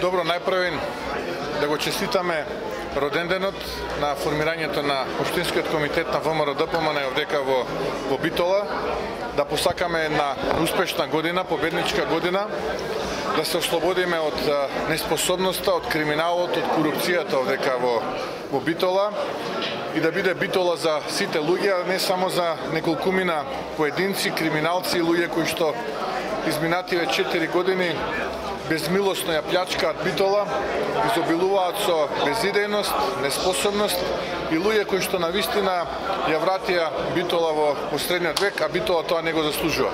Добро, најпрвен да го честитаме роденденот на формирањето на Општинскиот комитет на ВМРО ДПМН овдека во Битола, да посакаме една успешна година, победничка година, да се ослободиме од неспособноста, од криминалот, од корупцијата овдека во Битола и да биде Битола за сите луѓе, а не само за неколкумина поединци, криминалци и луѓе кои што изминативе 4 години безмилосно ја плячкаат Битола, изобилуваат со безидејност, неспособност и луѓе кои што навистина ја вратија Битола во средниот век, а Битола тоа не го заслужува.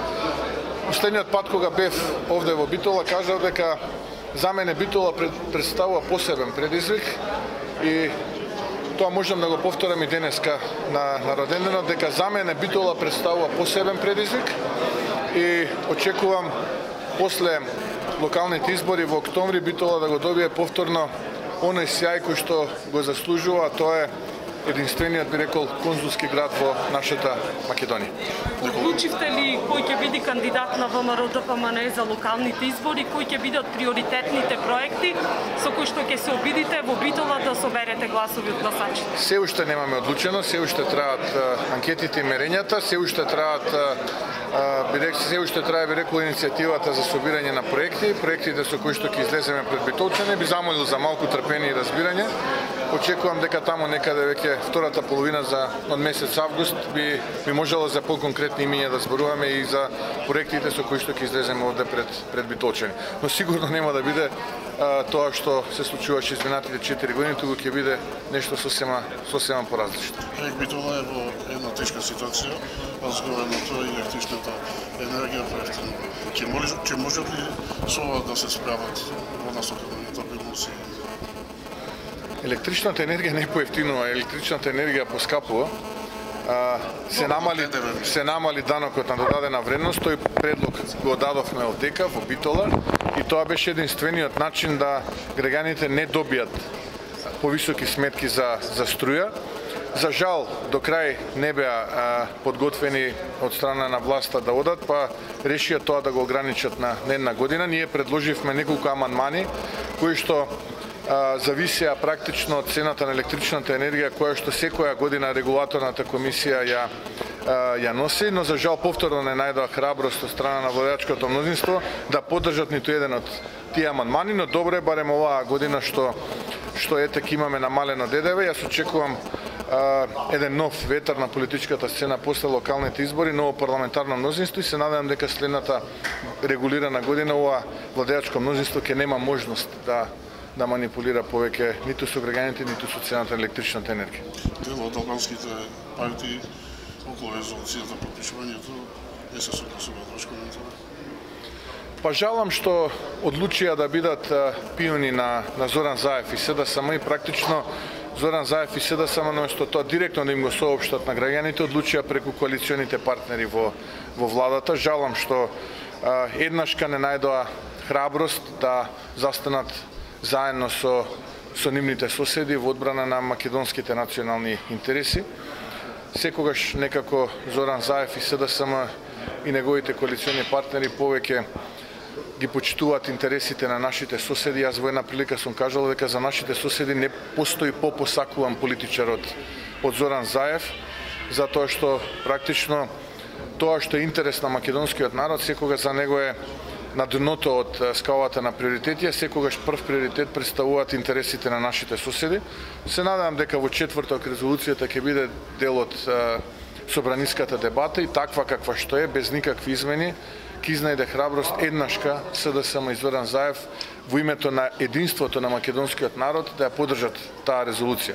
Последниот пат кога бев овде во Битола кажав дека за мене Битола представува посебен предизвик и тоа можам да го повторам и денеска на роденденот, дека за мене Битола представува посебен предизвик и очекувам после локалните избори во октомври Битола да го добие повторно оној сјај кој што го заслужува, а тоа е единствениот, би рекол, конзулски град во нашата Македонија. Одлучивте ли кој ќе биде кандидат на ВМРО ДПМН за локалните избори, кои ќе бидат приоритетните проекти со кои што ќе се обидите во Битола да соберете гласови од гласачите? Се уште немаме одлучено, се уште траат анкетите и мерењата, се уште траат би рекол иницијативата за собирање на проектите со кои што ќе излеземе пред битолчани. Би замолил за малку трпение и разбирање. Очекувам дека таму некаде веќе втората половина од месец август би можело за поконкретни имиња да зборуваме и за проектите со кои што ќе излеземе овде пред битолчани. Но сигурно нема да биде тоа што се случуваше изминатите 4 години, туку ќе биде нешто сосема поразлично. Битола е во една тешка ситуација, разговараме тоа и електричната енергија поевтина. Ќе можат ли со ова да се справат во насока на стабилност? Електричната енергија не поевтинува, електричната енергија поскапува. Се намали данокот на додадена вредност, тој предлог го дадовме овдека во Битола и тоа беше единствениот начин да граѓаните не добијат повисоки сметки за струја. За жал, до крај не беа подготвени од страна на власта да одат, па решија тоа да го ограничат на една година. Ние предложивме неколку амандмани кои што зависеа практично од цената на електричната енергија која што секоја година регулаторната комисија ја носи, но за жал повторно не најдоа храброст од страна на владеачкото мнозинство да поддржат ниту еден од тие амандмани, но добро е барем оваа година што етек имаме намалено ДДВ. Јас очекувам еден нов ветар на политичката сцена после локалните избори, ново парламентарно мнозинство и се надевам дека следната регулирана година ова владеачко мнозинство ќе нема можност да манипулира повеќе ниту со граѓаните, ниту со цената на електричната енергија. Дел од албанските партии околу резолуцијата по пишувањето не се согласуваат. Ваш коментар? Па жалам што одлучија да бидат пиони на Зоран Заев и СДСМ и практично Зоран Заев и СДСМ наместо тоа директно да им го соопштат на граѓаните, одлучија преку коалиционите партнери во владата. Жалам што еднашка не најдоа храброст да застанат заедно со нивните соседи во одбрана на македонските национални интереси. Секогаш некако Зоран Заев и СДСМ и неговите коалициони партнери повеќе ги почитуваат интересите на нашите соседи. Јас во една прилика сум кажал дека за нашите соседи не постои попосакуван политичар од Зоран Заев, затоа што практично тоа што е интерес на македонскиот народ секогаш за него е на дното од скалата на приоритети, секогаш прв приоритет представуваат интересите на нашите соседи. Се надевам дека во четврток резолуцијата ќе биде дел од собраниската дебата и таква каква што е, без никакви измени, ќе изнајде храброст еднашка СДСМ и Зоран Заев во името на единството на македонскиот народ да ја поддржат таа резолуција.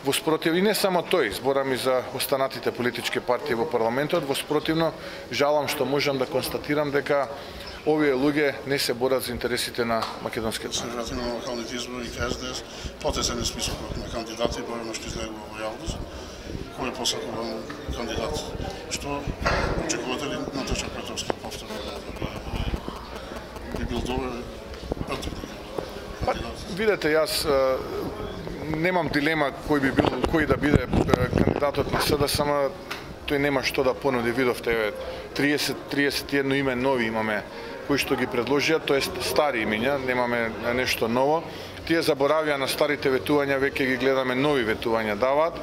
Во спротив, и не само тој, зборам и за останатите политички партии во парламентот, во спротивно жалам што можам да констатирам дека овие луѓе не се борат за интересите на македонскиот народ. Се врати на локалните избори и СДС, потесен е списокот на кандидати, бројно што излегува во јавност. Кој е посакуван кандидат? Што очекувате ли Наташа Петровска повторно? Би бил добар кандидат? Видете, јас немам дилема кој да биде кандидатот на СДСМ. Тој нема што да понуди, видовте 31 име нови имаме кои што ги предложија, тоест стари имиња, немаме нешто ново. Тие заборавија на старите ветувања, веќе ги гледаме нови ветувања даваат.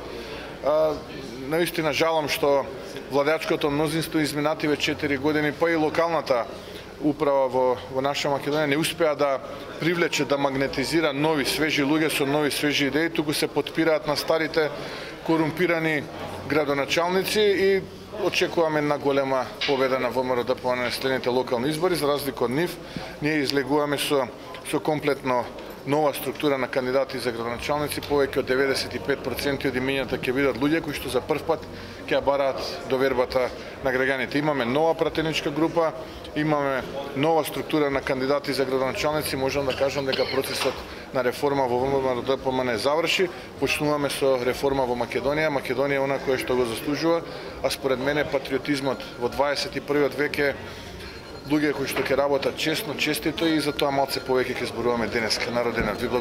Наистина жалам што владеачкото мнозинство изминативе 4 години, па и локалната управа во наша Македонија не успеа да привлече, да магнетизира нови свежи луѓе со нови свежи идеи, туку се потпираат на старите корумпирани градоначалници и очекуваме една голема победа на ВМРО-ДПМН на следните локални избори. За разлика од нив, ние излегуваме со комплетно нова структура на кандидати за градоначалници, повеќе од 95% од имињата ќе бидат луѓе кои што за прв пат ќе бараат довербата на граѓаните. Имаме нова пратеничка група, имаме нова структура на кандидати за градоначалници, можам да кажам дека процесот на реформа во ВМРО-ДПМН заврши, почнуваме со реформа во Македонија. Македонија е она која што го заслужува, а според мене патриотизмот во 21. век е луѓе кои што ќе работат честно, честито и затоа малце повеќе ќе зборуваме денеска на роденот. Ви благодарам.